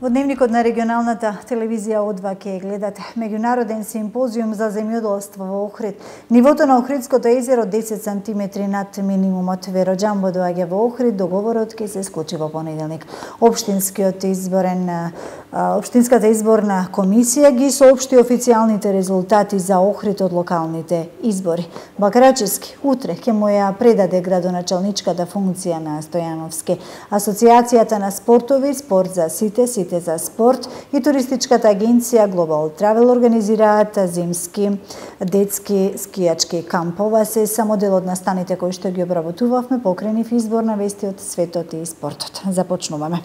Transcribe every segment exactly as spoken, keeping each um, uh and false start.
Во дневникот на регионалната телевизија О два ќе гледате меѓународен симпозиум за земјоделство во Охрид. Нивото на Охридското езеро десет сантиметри над минимумот. Веро Џамбо доаѓа во Охрид, договорот ќе се склучи во понеделник. Општинскиот изборен Општинската изборна комисија ги соопшти официјалните резултати за Охрид од локалните избори. Бакрачевски утре ќе му ја предаде градоначалничката функција на Стојановски. Асоциацијата на спортови Спорт за сите, сите за спорт и туристичката агенција Global Travel организираат зимски детски скијачки кампова. Се само дел од настаните кои што ги обработувавме покрени в изборна вести од светот и спортот. Започнуваме.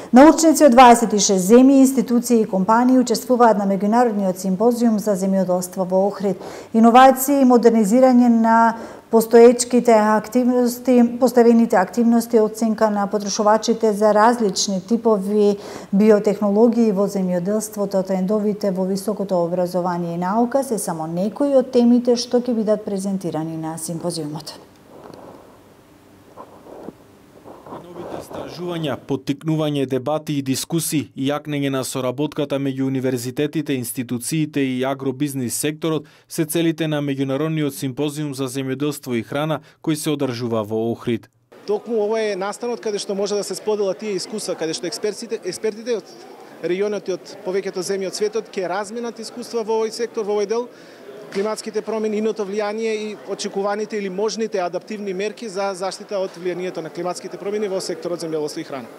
Научници од дваесет и шест земји, институции и компании учествуваат на меѓународниот симпозиум за земјоделство во Охрид. Иновации и модернизирање на постоечките активности, поставените активности, оценка на потрошувачите за различни типови биотехнологии во земјоделството, трендовите во високото образование и наука се само некои од темите што ќе бидат презентирани на симпозиумот. Истражувања, поттикнување дебати и дискусии и јакнење на соработката меѓу универзитетите, институциите и агробизнис секторот се целите на меѓународниот симпозиум за земјоделство и храна кој се одржува во Охрид. Токму ова е настанот каде што може да се споделат тие искуства, каде што експертите, експертите од регионот и од повеќето земји од светот ќе разменат искуства во овој сектор, во овој дел, климатските промени, иното влијание и очекуваните или можните адаптивни мерки за заштита од влијанието на климатските промени во секторот земјоделство и храна.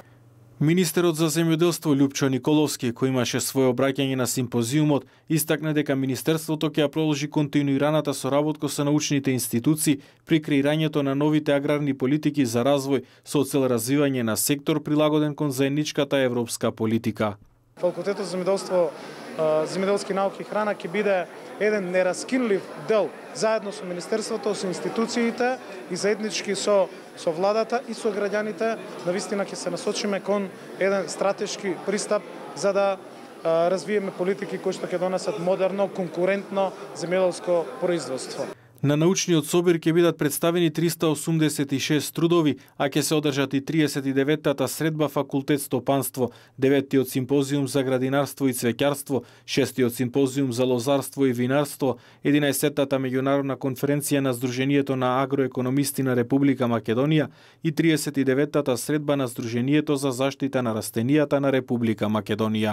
Министерот за земјоделство Љупчо Николовски, кој имаше своје обраќање на симпозиумот, истакна дека Министерството ќе ја продолжи континуираната соработка со научните институции при креирањето на новите аграрни политики за развој со цел развивање на сектор прилагоден кон заедничката европска политика. Факултетот за земјоделство, земјоделски науки и храна ќе биде еден нераскинлив дел заедно со Министерството, со институциите и заеднички со со владата и со граѓаните, навистина ќе се насочиме кон еден стратешки пристап за да а, развиеме политики кои што ќе донесат модерно, конкурентно земјоделско производство. На научниот собир ќе бидат представени триста осумдесет и шест трудови, а ќе се одржат и триесет и деветата средба факултет стопанство, деветтиот симпозиум за градинарство и цвеќарство, шестиот симпозиум за лозарство и винарство, единаесеттата меѓународна конференција на Сдруженијето на агроекономисти на Република Македонија и триесет и деветата средба на Сдруженијето за заштита на растенијата на Република Македонија.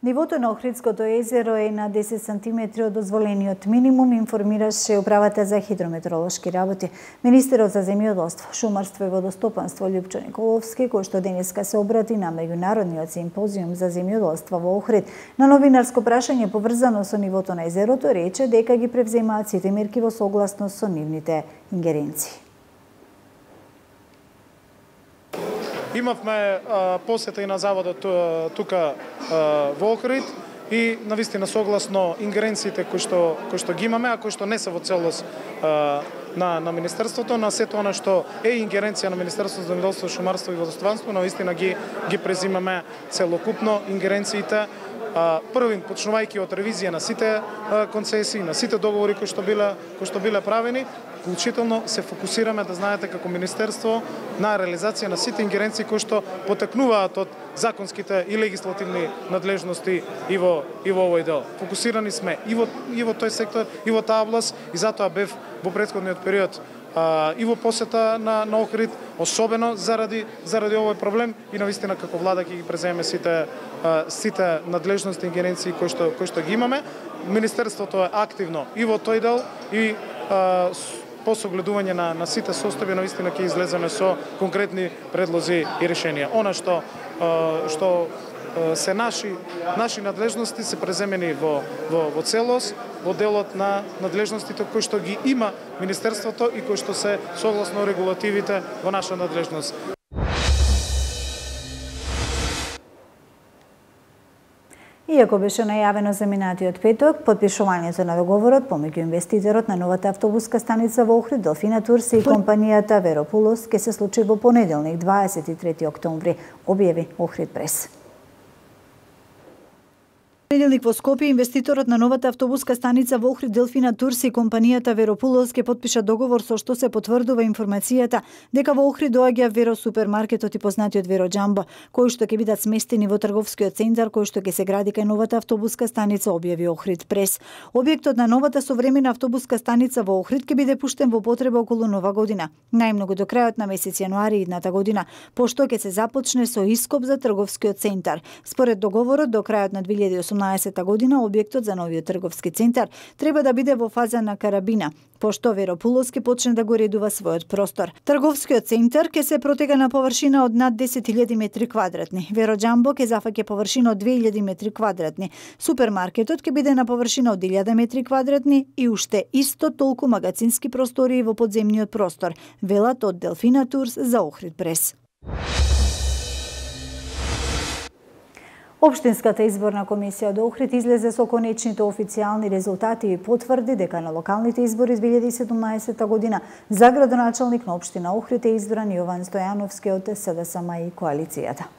Нивото на Охридското езеро е на десет сантиметри од дозволениот минимум, информираше Управата за хидрометеоролошки работи. Министерот за земјоделство, шумарство и водостопанство Љупчо Николовски, кој што денеска се обрати на меѓународниот симпозиум за земјоделство во Охрид, на новинарско прашање поврзано со нивото на езерото, рече дека ги превземаат сите мерки во согласност со нивните ингеренции. Имавме а, посета и на заводот тука а, во Охрид и навистина согласно ингеренциите кои што кои што ги имаме, а кои што не се во целост а, на на министерството, на сето она што е ингеренција на Министерството за земјоделство, шумарство и водостопанство, навистина ги ги презимаме целокупно ингеренциите. Првин, почнувајќи од ревизија на сите концесии, на сите договори кои што биле кои што биле правени, вклучително се фокусираме, да знаете, како министерство на реализација на сите ингеренции кои што потекнуваат од законските и легислативни надлежности и во и во овој дел. Фокусирани сме и во и во тој сектор, и во таа област, и затоа бев во претходниот период а, и во посета на, на Охрид, особено заради заради овој проблем и навистина како влада ќе ги преземе сите а, сите надлежности и ингеренции кои што кои што ги имаме. Министерството е активно и во тој дел и а, по согледување на, на сите состојби навистина ќе излеземе со конкретни предлози и решенија. Она што а, што се наши наши надлежности се преземени во во во целост, во делот на надлежностите кои што ги има министерството и кои што се согласно регулативите во наша надлежност. Иако беше најавено за минатиот петок, потпишувањето на договорот помеѓу инвеститорот на новата автобуска станица во Охрид, Делфина Турси и компанијата Веропулос ќе се случи во понеделник, дваесет и трети октомври, објави Охрид прес. Неделник во Скопје инвеститорот на новата автобуска станица во Охрид Делфина Турс и компанијата Веропулос ке потпиша договор со што се потврдува информацијата дека во Охрид доаѓа Веро супермаркетот и познатиот Веро Џамбо, кои што ќе бидат сместени во трговскиот центар кој што ќе се гради кај новата автобуска станица, објави Охрид Прес. Објектот на новата современа автобуска станица во Охрид ќе биде пуштен во употреба околу Нова година, најмногу до крајот на месец јануари идната година, пошто ќе се започне со ископ за трговскиот центар. Според договорот, до крајот на две илјади и осумнаесетта година објектот за новиот трговски центар треба да биде во фаза на карабина, пошто Веропулос ќе почне да го редува својот простор. Трговскиот центар ќе се протега на површина од над десет илјади метри квадратни. Веро Џамбо ќе зафаќа површина од две илјади метри квадратни. Супермаркетот ќе биде на површина од илјада метри квадратни и уште исто толку магазински простории во подземниот простор, велат од Делфина Турс за Охрид Прес. Општинската изборна комисија од Охрид излезе со конечните официјални резултати и потврди дека на локалните избори две илјади и седумнаесетта година за градоначалник на општина Охрид е избран Јован Стојановски од СДСМ и коалицијата.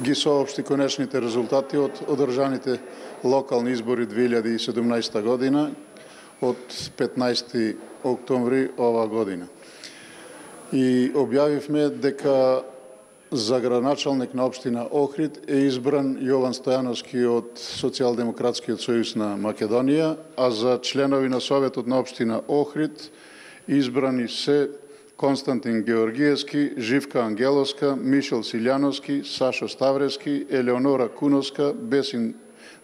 Ги соопшти конечните резултати од одржаните локални избори две илјади и седумнаесетта година од петнаесети октомври ова година. И објавивме дека за градоначалник на општина Охрид е избран Јован Стојановски од Социјалдемократскиот сојуз на Македонија, а за членови на Советот на општина Охрид избрани се Константин Георгиевски, Живка Ангеловска, Мишел Силјановски, Сашо Ставревски, Елеонора Куновска, Бесин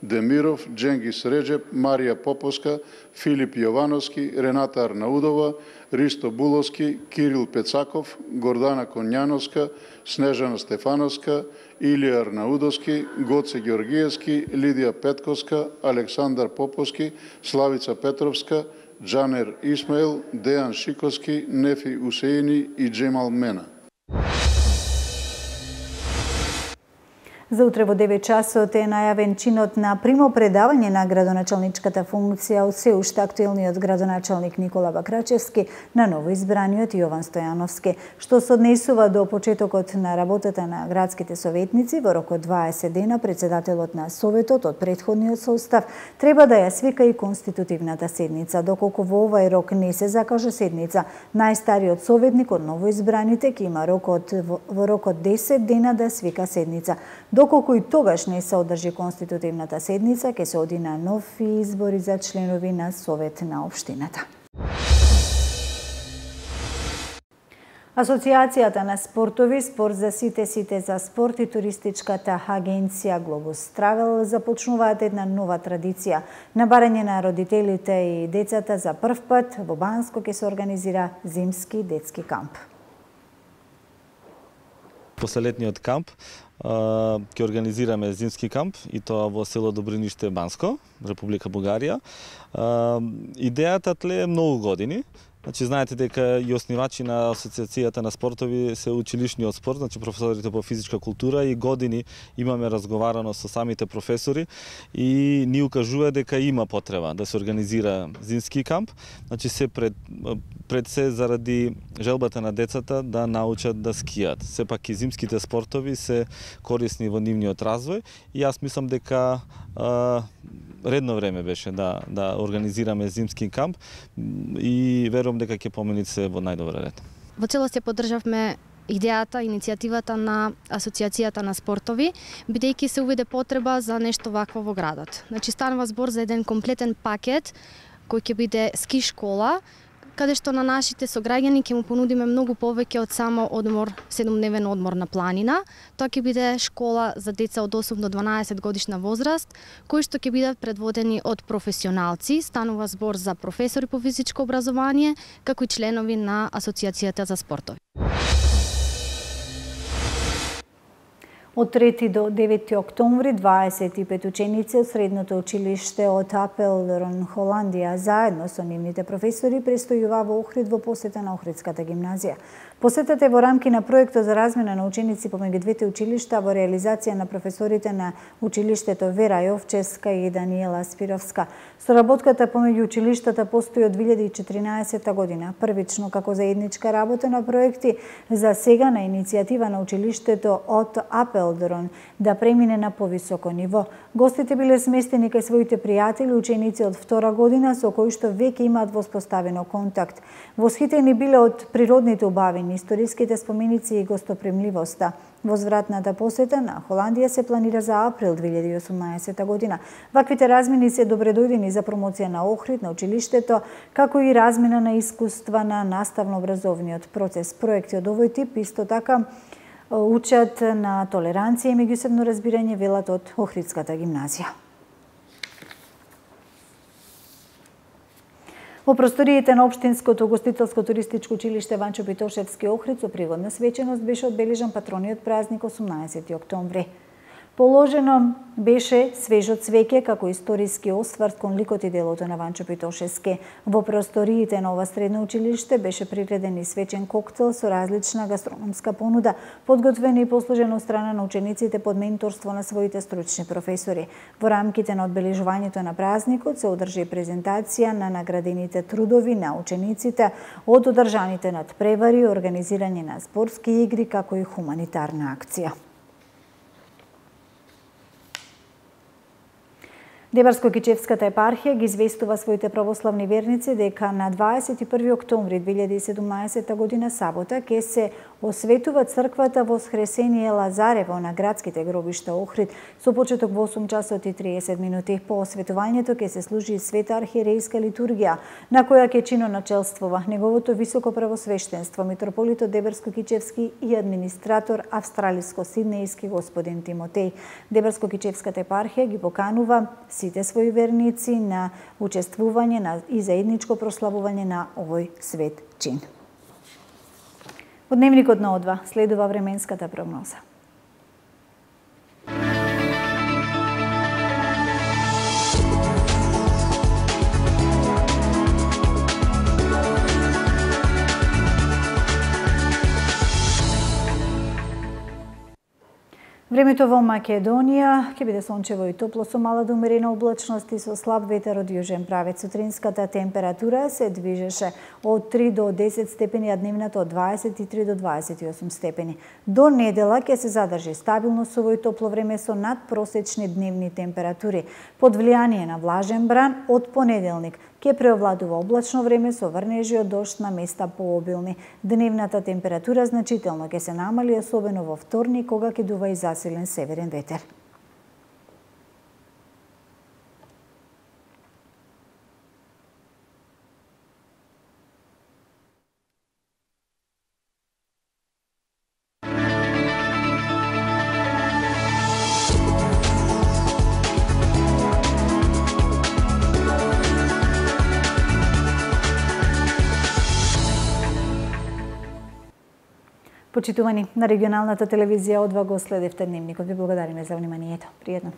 Демиров, Дженгис Реджеп, Марија Поповска, Филип Јовановски, Рената Арнаудова, Ристо Буловски, Кирил Пецаков, Гордана Конјановска, Снежана Стефановска, Илија Арнаудовски, Гоце Георгиевски, Лидија Петковска, Александар Поповски, Славица Петровска, Джанер Исмаил, Дејан Шиковски, Нефи Усеини и Джемал Мена. За утре во девет часот е најавен чинот на примопредавање на градоначалничката функција од се уште актуелниот градоначалник Никола Бакрачевски на новоизбраниот Јован Стојановски, што се однесува до почетокот на работата на градските советници. Во рок од дваесет дена председателот на Советот од претходниот состав треба да ја свика и конститутивната седница. Доколку во овај рок не се закажа седница, најстариот советник од новоизбраните ќе има рок од, во рок од десет дена да свика седница. Доколку и тогаш не се одржи конститутивната седница, ќе се оди на нови избори за членови на Совет на општината. Асоциацијата на спортови, Спорт за сите, сите за спорт и туристичката агенција Глобус Травел започнуваат една нова традиција. На барање на родителите и децата за прв пат во Банско ќе се организира зимски детски камп. После летниот камп ќе организираме зимски камп и тоа во село Добриниште, Банско, Република Бугарија. Идејата тлее многу години. Значи, знаете дека и основачи на Асоциацијата на спортови се училишниот спорт, значи професорите по физичка култура, и години имаме разговарано со самите професори и ни укажува дека има потреба да се организира зимски камп. Значи, се пред, пред се заради желбата на децата да научат да скијат. Сепак и зимските спортови се корисни во нивниот развој и јас мислам дека а, редно време беше да да организираме зимски камп и верувам дека ќе помени се во најдобар ред. Во целост ја поддржавме идејата, иницијативата на Асоциацијата на спортови, бидејќи се увиде потреба за нешто вакво во градот. Значи, станува збор за еден комплетен пакет кој ќе биде ски школа, каде што на нашите сограѓани ќе му понудиме многу повеќе од само одмор, седумдневен одмор на планина. Тоа ќе биде школа за деца од осум до дванаесет годишна возраст, кои што ќе бидат предводени од професионалци. Станува збор за професори по физичко образование, како и членови на Асоциацијата за спортови. Од трети до девети октомври дваесет и пет ученици од средното училиште од Апелдорн, Холандија, заедно со нивните професори престојува во Охрид во посета на Охридската гимназија. Посетата е во рамки на проектот за размена на ученици помеѓу двете училишта во реализација на професорите на училиштето Вера Јовчевска и Даниела Спировска. Соработката помеѓу училиштата постои од две илјади и четиринаесетта година, првично како заедничка работа на проекти, за сега на иницијатива на училиштето од Апелдрон да премине на повисоко ниво. Гостите биле сместени кај своите пријатели, ученици од втора година со кои што веќе имаат воспоставено контакт. Восхитени биле од природните убавини, историските споменици и гостопримливоста. Возвратната посета на Холандија се планира за април две илјади и осумнаесетта година. Ваквите размени се добредојдени за промоција на Охрид, на училиштето, како и размена на искуства на наставно-образовниот процес. Проекти од овој тип исто така учат на толеранција и меѓусебно разбирање, велат од Охридската гимназија. Во просториите на Општинското гостителско-туристичко училиште Ванчо Питошевски Охрид со пригодна свеченост беше одбележан патрониот празник осумнаесети октомври. Положено беше свежо цвеќе како историски осврт кон ликот и делото на Ванчо Питошевски. Во просториите на ова средно училиште беше приреден и свечен коктел со различна гастрономска понуда, подготвен и послужен од страна на учениците под менторство на своите стручни професори. Во рамките на одбележувањето на празникот се одржи презентација на наградените трудови на учениците од одржаните надпревари, организирање на спортски игри како и хуманитарна акција. Дебарско-Кичевската епархија ги известува своите православни верници дека на дваесет и први октомври две илјади и седумнаесетта година сабота ќе се осветува црквата Воскресение Лазарево на градските гробишта Охрид со почеток во осум часот и триесет минути. По осветувањето ќе се служи света архиерејска литургија, на која ќе чиноначелствува неговото високо правосвештенство митрополитот Дебарско-Кичевски и администратор австралиско-сиднејски господин Тимотеј. Дебарско-Кичевската епархија ги поканува сите своји верници на учествување на и заедничко прославување на овој свет чин. Од дневникот на О два следува временската прогноза. Времето во Македонија ќе биде сончево и топло со мала до умерена облачност и со слаб ветер од јужен правец. Сутринската температура се движеше од три до десет степени, а дневната од дваесет и три до дваесет и осум степени. До недела ќе се задржи стабилно суво и топло време со надпросечни дневни температури. Под влијание на влажен бран од понеделник ќе преовладува облачно време со врнежи од дожд на места пообилни. Дневната температура значително ќе се намали, особено во вторник, кога ќе дува и засилен северен ветер. Почитувани, на регионалната телевизија О два го следевте дневникот. Ви благодариме за вниманието. Пријатно.